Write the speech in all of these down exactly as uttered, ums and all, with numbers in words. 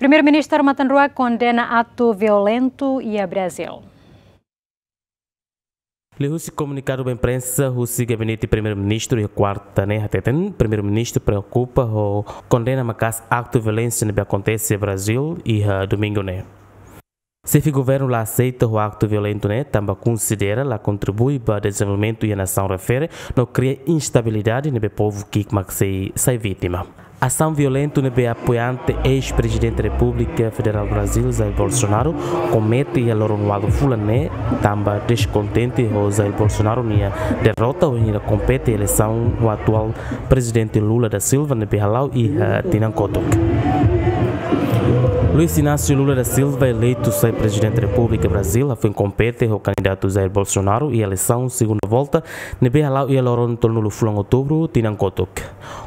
Primeiru-Ministru matan-ruak kondena aktu violentu iha Brazíl. Liuhusi komunikadu ba imprensa husi gabinete Primeiru-Ministru iha kuarta ne'e hateten, Primeiru-Ministru preokupa ho kondena maka'as aktu violénsia ne'ebé akontese iha Brazíl iha domingu ne'e. Xefe governu la aseita ho aktu violentu ne'e, tanba konsidera la kontribui ba dezenvolvimentu iha nasaun refere, no kria instabilidade ne'ebé povu ki'ik mak sei sai vítima. Asaun violentu ne'ebé apoiante eis-Prezidente Repúblika Federál Brazíl, Jair Bolsonaro, komete iha loron ualu fulan ne'e, tanba deskontente ho Jair Bolsonaro nia derrota wainhira kompete eleisaun ho atuál Prezidente Lula da Silva ne'ebé hala'o iha tinan kotuk. Luiz Inácio Lula da Silva, eleitu sai Prezidente Repúblika Brazíl, hafoin kompete ho kandidatu Jair Bolsonaro iha eleisaun segunda volta ne'ebé hala'o iha loron tolunulu fulan Outubru tinan kotuk.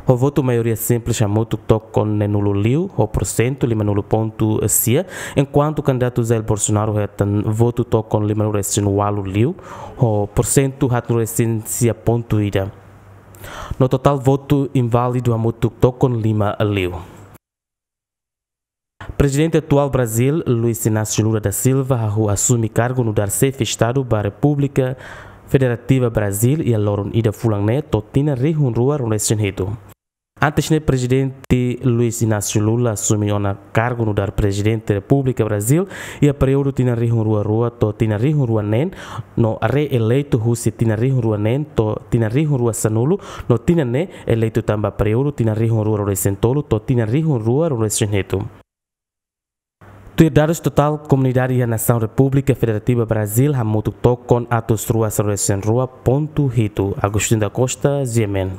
Ho votu maioria simples hamutuk tokon neenulu liu, ho porsentu limanulu pontu sia, enkuantu kandidatu Jair Bolsonaro hetan votu tokon limanulu resin ualu liu, ho porsentu haatnulu resin sia pontu ida. No totál votu inválidu hamutuk tokon lima liu. Prezidente atuál Brazíl, Luiz Inácio Lula da Silva, hahú asume kargu nu'udar xefe Estadu ba Repúblika Federativa Brazíl iha loron ida fulan ne'e to'o tinan rihun rua ruanulu resin hitu. Antes ne'e, Prezidente Luiz Inácio Lula asume ona kargu nu'udar Prezidente Repúblika Brazíl iha períodu tinan rihun rua rua to'o tinan rihun rua neen, no reeleitu husi tinan rihun rua neen to'o tinan rihun rua sanulu, no tinan ne'e eleitu tan ba períodu tinan rihun rua ruanulu resin tolu to'o tinan rihun rua ruanulu resin hitu. Tuir dadus totál, komunidade iha nasaun Repúblika Federativa Brazíl hamutuk tokon atus rua sanulu resin rua pontu hitu. Agostinho da Costa, G M N.